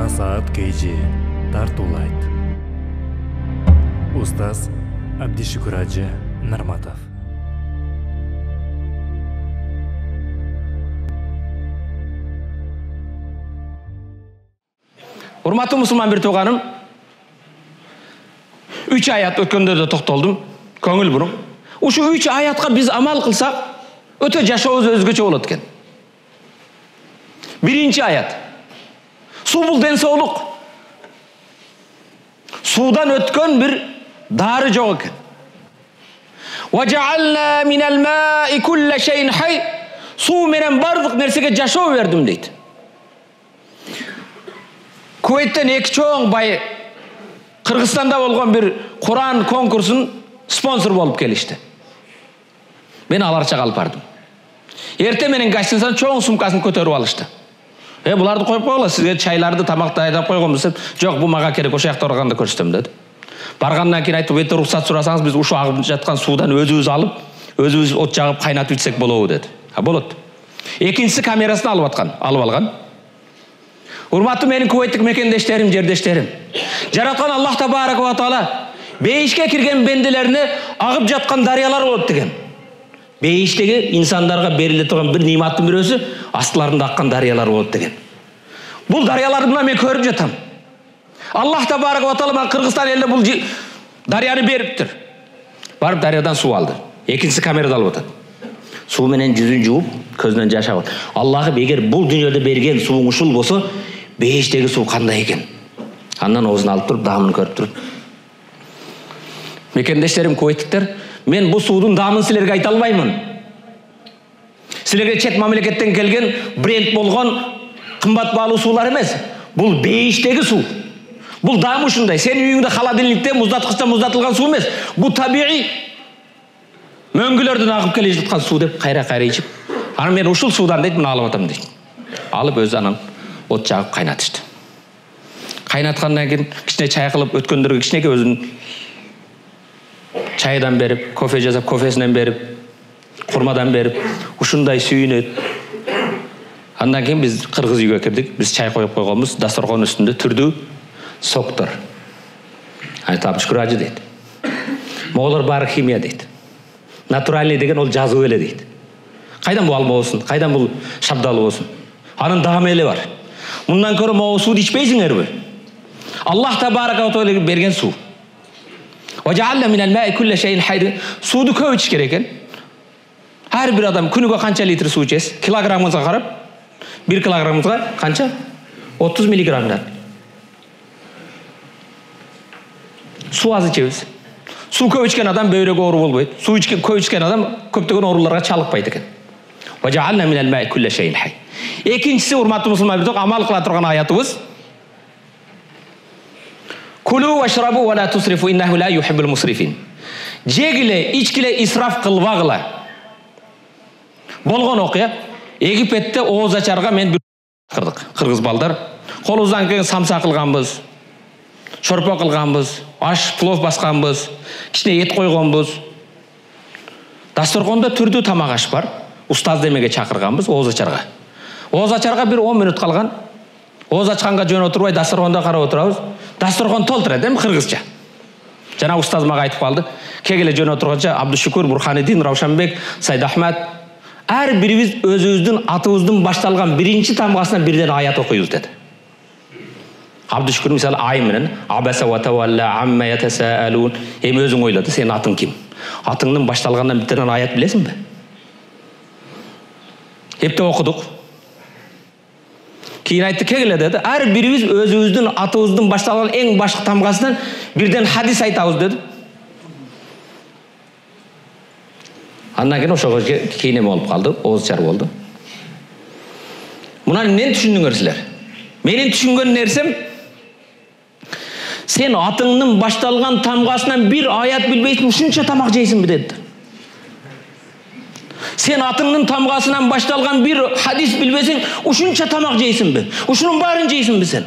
Насаат Кейжи тартуулайт. Устаз Абдишукур Ажы Нарматов. Урматтуу мусулман бир тууганым, 3 аят өткөндө да токтолдум. Көңүл буруң. Ушу 3 аятка биз амал кылсак, өтө жашообуз өзгөчө болот экен. Биринчи аят. Суу бул ден соолук. Суудан өткөн бир дары жок экен. وَجَعَلْنَا مِنَ الْمَاءِ كُلَّ شَيْءٍ حَيٍّ. Суу менен бардык нерсеге жашоо бердим дейт. Кувейттен 2 чоң бай Кыргызстанда болгон бир Куран конкурсун спонсор болуп келишти. Мен аларча калып бардым. Эрте менен гостиницанын чоң сумкасын көтөрүп алышты. Буларды коюп койгула, сизге чайларды, тамакты айдап койгонбуз деп. Жок, бул мага керек, ошол жакта барганда көрсөтөм деді. Баргандан кийин айтып, "Бетте уруксат сурасаңыз, биз ушу агып жаткан суудан өзүбүз алып, өзүбүз от жагып кайнатып ичсек болобу" деді. Болот. Экинчиси камерасын алып алган. Урматтуу менин Кувейттик мекендештерим, жердештерим. Жараткан Аллах табарак ва таала бейишке кирген бенделерине агып жаткан дарыялар болот деген. Бейиштеги инсандарга бериле турган бир ниматтын бирөөсү астыларында аккан дарыялар болот деген. Бул дарыяларды мына мен көрүп жатам. Аллах табарак ва таала мага Кыргызстан элине бул дарыяны бериптир. Барып дарыядан суу алды. Экинчиси камерада алып атат. Суу менен жүзүн жууп, көзүнөн жаш агат. Аллахым, эгер бул дүйнөдө берген сууң ушул болсо, бейиштеги суу кандай экен? Андан оозун алып туруп, даамын көрүп туруп. Мекендештерим, кувейттиктер, мен бул суудун даамын силерге айта албаймын. Силерге чет мамлекеттен келген бренд болгон кымбат баалуу суулар эмес. Бул бейиштеги суу. Бул даамы ушундай. Сенин үйүңдө холодильникте муздаткычта муздатылган суу эмес. Бул табигый мөңгүлөрдөн агып келе жаткан суу деп кайра ичип. Аны мен ушул суудан дейт, мына алып атам дейт. Алып өзү анан от жагып кайнатышты. Кайнаткандан кийин кичине чай кылып өткөндөргө кичинеке өзүнүн чайдан берип, кофе жасап, кофесинен берип, курмадан берип, ушундай сүйүнөт. Андан кийин биз кыргыз үйгө кирдик. Биз чай коюп койгонбуз, дасторкон үстүндө түрдүү соктор. Айтап шүкүр дейт. Моголор баары химия дейт. Натуральный деген ол жазуу эле дейт. Кайдан бул алма болсун, кайдан бул шабдалы болсун? Анын даамы эле бар. Мындан көрө могу сууду ичпейсиңерби? Аллах табарак ва таала берген суу. وَجَعَلْنَا مِنَ الْمَاءِ كُلَّ شَيْءٍ حَيٍّ. Сууду көп ичиш керек экен. Ар бир адам күнүгө канча литр суу ичесиз? Килограммыңызга карап, 1 килограммыңызга канча? 30 миллиграммдан. Суу аз ичебиз. Суу көп ичкен адам бөйрөгө оору болбойт. Суу көп ичкен адам көптөгөн ооруларга чалыкпайт экен. وَجَعَلْنَا مِنَ الْمَاءِ كُلَّ شَيْءٍ حَيٍّ. Экинчиси, урматтуу мусулмандар, амал кыла турган аятыбыз. Кулу вашрабу ва ла тусрифу иннаху ла юхиббул мусрифин. Жегиле, ичкиле, исраф кылбагыла. Болгон окуя. Египетте ооз ачарга мен кырдык. Кыргыз балдар колубуздан келген самса кылганбыз. Шорпо кылганбыз, аш, плов басканбыз, кичине эт койгонбуз. Дасторкондо түрдүү тамак аш бар. Устаз демеге чакырганбыз ооз ачарга. Ооз ачарга бир 10 мүнөт калган. Ооз ачканга жөн отурбай дасторкондо карап отурабыз. Дасторкон толтурат, кыргызча. Жана устаз мага айтып калды. Кегеле жөн отурганча Абдушукур, Бурханиддин, Раушанбек, Сайд Ахмад, ар бирибиз өзүбүздүн атыбыздын башталган биринчи тамгасынан бирден аят окуйбуз деди. Абдушукур мисалы ай менен абаса ва тавалла амма ятасаалун. Өзүң ойло, сенин атың ким? Атыңдын башталгандан бирден аят билесиңби? Эптеп окудук. Кийин айтты, кегеле деди, ар бирибиз өзүбүздүн атыбыздын башталган эң башкы тамгасынан бирден хадис айтабыз деди. Андан кийин ошого кийин эме болуп калды, ооз чар болду. Муну эмнени түшүндүңөр силер? Менин түшүнгөн нерсем, сен атыңдын башталган тамгасынан бир аят билбейсиң, ушунча тамак жейсиңби деди. Сен атыңдын тамгасынан башталган бир хадис билбесең, ушунча тамак жейсиңби? Ушунун баарын жейсиңби сен?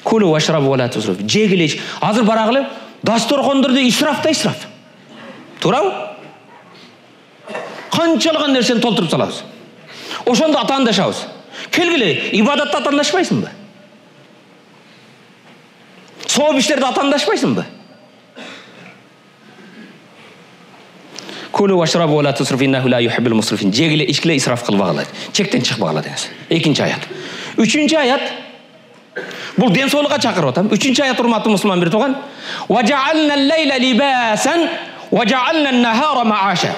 Кулу вашрабу ва ла тусрифу. Жегиле. Азыр барагылы дасторкондордо исраф да исраф. Туурабы? Канчалыган нерсени толтуруп салабыз. Ошондо атаандашабыз. Келгиле, ибадатта атаандашпайсыңбы? Сооп иштерде атаандашпайсыңбы? Кулу вашрабу ва ла тусрифу иннаху ла юхиббул мусрифин. Жегиле, ичкиле, исраф кылбагыла. Чектен чыкпагыла деңиз. Экинчи аят. Үчүнчү аят. Бул ден соолукка чакырып атам. Үчүнчү аят урматтуу мусулман бир туган. Ва жаална ал-лайла либасан ва жаална ан-нахара мааша.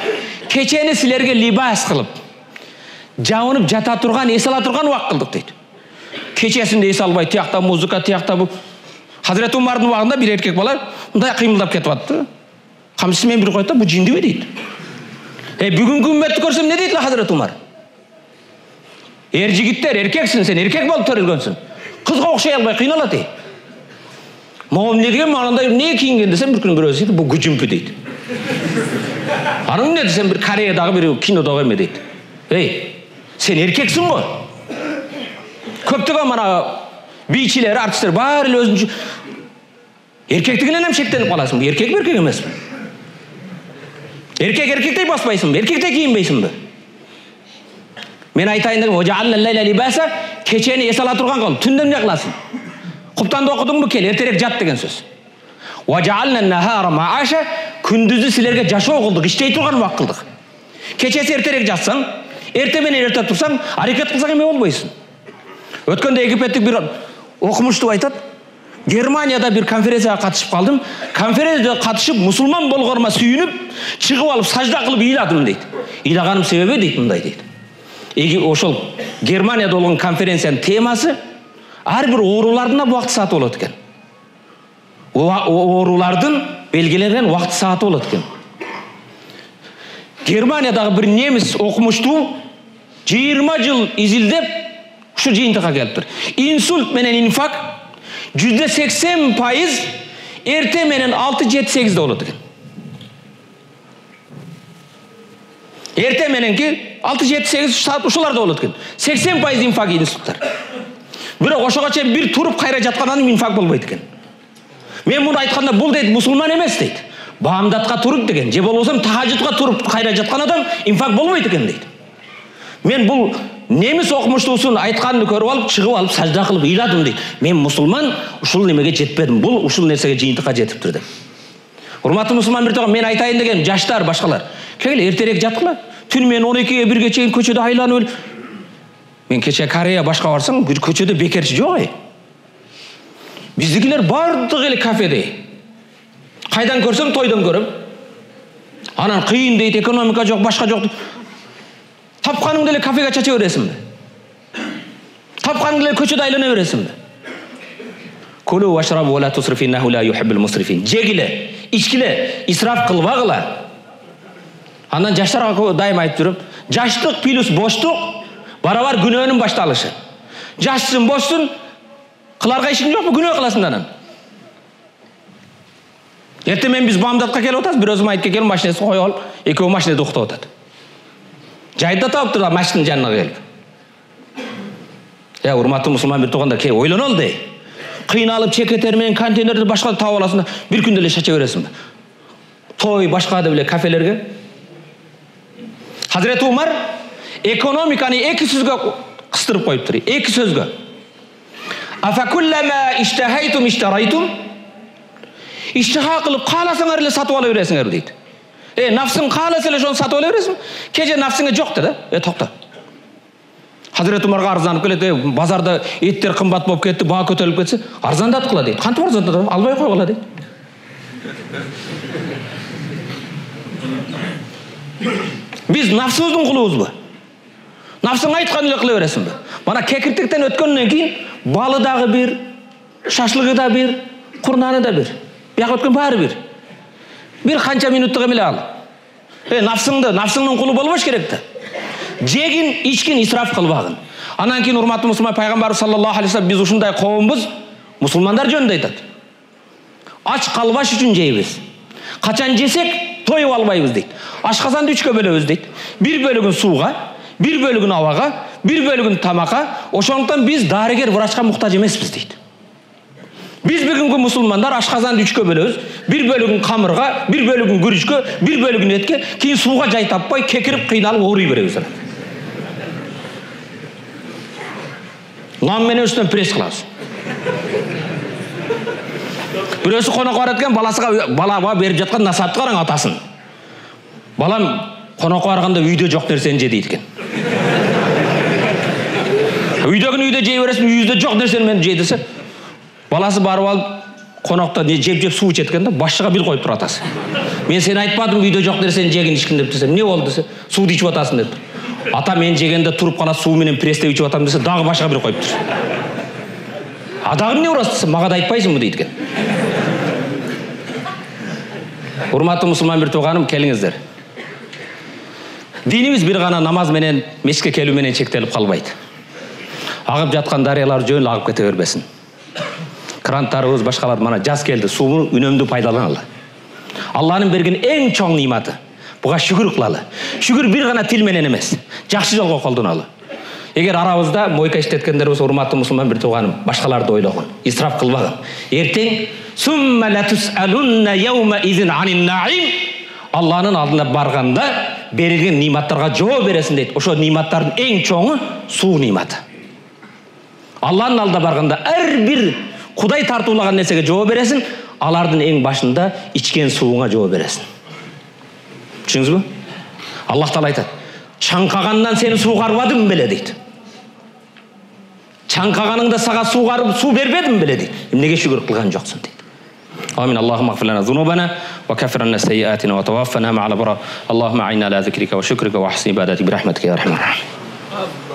Кечени силерге либас кылып, жабынып жата турган, эс ала турган убак кылдык дейт. Кечесинде эс албай, тиякта музыка, тиякта бу. Хазрет Умардын убагында бир эркек бала мындай кыймылдап кетип атты. Камчысы менен бир койт да, бу жиндиби дейт. Бүгүнкү үммөттү көрсөм не дейт Хазрет Умар? Жигиттер, эркексиң сен, эркек болуп төрөлгөнсүң. Кызга окшой албай кыйналат дейт. Могу эмне деген, андай эмне кийинген десем, бир күн бирөөсү дейт, бу күжүмпү дейт. Анын эмне десем, бир Кореядагы бир кинодогу эме дейт. Сен эркексиң го. Көптөгөн мана бийчилер, артисттер баары эле өзүнчө эркектигинен эм шектенип каласың. Эркек эркек эмеспи? Эркек эркектей баспайсыңбы? Эркектей кийинбейсиңби? Мен айтайын дегем, "Важаална лайла либаса", кечени эс ала турган кыл, түндө эмне кыласың? Куптанды окудуңбу? Кел, эртерээк жат деген сөз. "Важаална ан-нахара мааша", күндүздү силерге жашоо кылдык, иштей турган убак кылдык. Кечеси эртерээк жатсаң, эрте менен эрте турсаң, аракет кылсаң эме болбойсуң. Өткөндө египеттик бир окумуштуу айтат, Германияда бир конференцияга катышып калдым. Конференцияга катышып, мусулман болгорума сүйүнүп, чыгып алып сажда кылып ыйладым дейт. Ыйлаганым себеби дейт, мындай дейт. Ошол Германияда болгон конференциянын темасы ар бир оорулардын убакыт сааты болот экен. Оорулардын белгиленген убакыт сааты болот экен. Германиядагы бир немис окумуштуу 20 жыл изилдеп ушу жыйынтыкка келиптир. Инсульт менен инфаркт %80% эрте менен 6-7-8 болот экен. Эрте мененки 6-7-8 ушуларда болот экен. 80% инфаркт инсульттар. Бирок ошого чейин бир туруп кайра жаткандан инфаркт болбойт экен. Мен муну айтканда бул дейт мусулман эмес дейт. Баамдатка туруп деген, же болбосо тахажжудка туруп кайра жаткан адам инфаркт болбойт экен дейт. Мен бул немис окумуштуусун айтканын көрүп алып, чыгып алып сажда кылып ыйладым дейт. Мен мусулман ушул немеге жетпедим. Бул ушул нерсеге жыйынтыкка жетиптир деп. Урматтуу мусулман бир тагы мен айтайын деген жаштар, башкалар. Келе эртерээк жаткыла. Түн менен 12-ге 1-ге чейин көчөдө айланып өл. Мен кече Корея башка барсам, көчөдө бекерчи жок. Биздикилер бардыгы эле кафеде. Кайдан көрсөң тойдон көрөм. Анан кыйын дейт, экономика жок, башка жок. Тапканыңды эле кафеге чача бересиңби? Тапканыңды эле көчөдө айлана бересиңби? Кулу вашрабу ва ла тусрифу иннаху ла юхиббул мусрифин. Жегиле, ичкиле, исраф кылбагыла. Андан жаштарга дайым айтып жүрөм, жаштык плюс боштук барабар күнөөнүн башталышы. Жашсың, боштун, кыларга ишиң жокпу, күнөө кыласың анан. Эрте мен биз бамдатка келип атабыз, бир өзүм айтып келем, машинесин коюп алып, экөө машинеде уктап атат. Жайда таптыр да машинанын жанына келип. Урматтуу мусулман бир туугандар, кел ойлонол дей. Кыйналып чекетер менен контейнерди башка таап аласың да, бир күндө эле чача бересиңби? Той башка деп эле кафелерге. Хазрет Умар экономиканы 2 сөзгө кыстырып коюптур. 2 сөзгө. Афакуллама иштахайтум иштарайтум. Иштиха кылып кааласаңар эле сатып ала бересиңер дейт. Нафсың кааласа эле ошону сатып ала бересиң. Кеже нафсыңа жок да. Токто. Хазрет Умарга арзанып келет, базарда эттер кымбат болуп кетти, баа көтөрүлүп кетсе, арзандаткыла дейт. Кантип арзандатат? Албай койгула дейт. Биз нафсыбыздын кулубузбу? Нафсың айткан эле кыла бересиңби? Мана кекиртиктен өткөндөн кийин балы дагы бир, шашлыгы да бир, курнаны да бир. Бияка өткөн баары бир. Бир канча минуттук эмеле ал. Нафсыңдын кулу болбош керек да. Жегин, ичкин, исраф кылбагын. Анан кийин урматтуу мусулман пайгамбарыбыз саллаллаху алейхи вассалам биз ушундай коомбуз, мусулмандар жөнүндө айтат. Ач калбаш үчүн жейбиз. Качан жесек тоюп албайбыз дейт. Ашказанды 3кө бөлөбүз дейт. Бир бөлүгүн сууга, бир бөлүгүн абага, бир бөлүгүн тамакка. Ошондуктан биз дарыгер, врачка муктаж эмеспиз дейт. Биз бүгүнкү мусулмандар ашказанды 3кө бөлөбүз. Бир бөлүгүн камырга, бир бөлүгүн күрүчкө, бир бөлүгүн этке, кийин сууга жай таппай, кекирип кыйналып ооруй беребиз. лам менен үстүнөн пресс кылабыз. Бирөөсү конокко барат экен, балага берип жаткан насаатты караң атасын. Балам конокко барганда үйдө жок нерсени же дейт экен. Үйдөгүнү үйдө жей бересиң, үйүздө жок нерсени мен жей десе, баласы барып алып конокто жеп суу ичет экен да, башчыга бил коюп турат атасы. Мен сени айтпадым үйдө жок нерсени жегин ичкин деп десем, эмне болду десе, сууду ичип атасың деп. Ата мен жегенде туруп калат, суу менен пресстеп ичип атам десе, дагы башка бир коюптур. Дагы эмне урасың десе, мага да айтпайсыңбы дейт экен. Урматтуу мусулман бир тууганым, келиңиздер. Динибиз бир гана намаз менен, мешитке келүү менен чектелип калбайт. Агып жаткан дарыялар жөн агып кете бербесин. Кранттарыбыз, башкалар мана жаз келди, сууну үнөмдүү пайдаланалы. Алланын берген эң чоң ниматы. Буга шүгүр кылалы. Шүгүр бир гана тил менен эмес, жакшы жолго колдоналы. Эгер арабызда мойка иштеткендер болсо, урматтуу мусулман бир тууганым, башкаларды ойлогун, исраф кылбагын. Эртең сумма латусалунна яума изин анин наим. Алланын алдына барганда берилген ниматтарга жооп бересиң дейт. Ошо ниматтардын эң чоңу суу ниматы. Алланын алдына барганда ар бир Кудай тартуулаган нерсеге жооп бересиң, алардын эң башында ичкен сууңа жооп бересиң. Түшүндүңүзбү? Аллах Таала айтат: "Чаңкагандан сени суугарбадым беле" дейт. Чаңкаганыңда сага суу бербедим беле дейт. Эмнеге шүгүр кылган жоксуң дейт. Амин. Аллахумма гфир лана зунубана ва каффир анна сайyi'atina ва tawaffana ma'al abrar. Allahumma a'inna ala zikrika wa shukrika wa husni ibadatik bi rahmatika ya arhamar rahimin.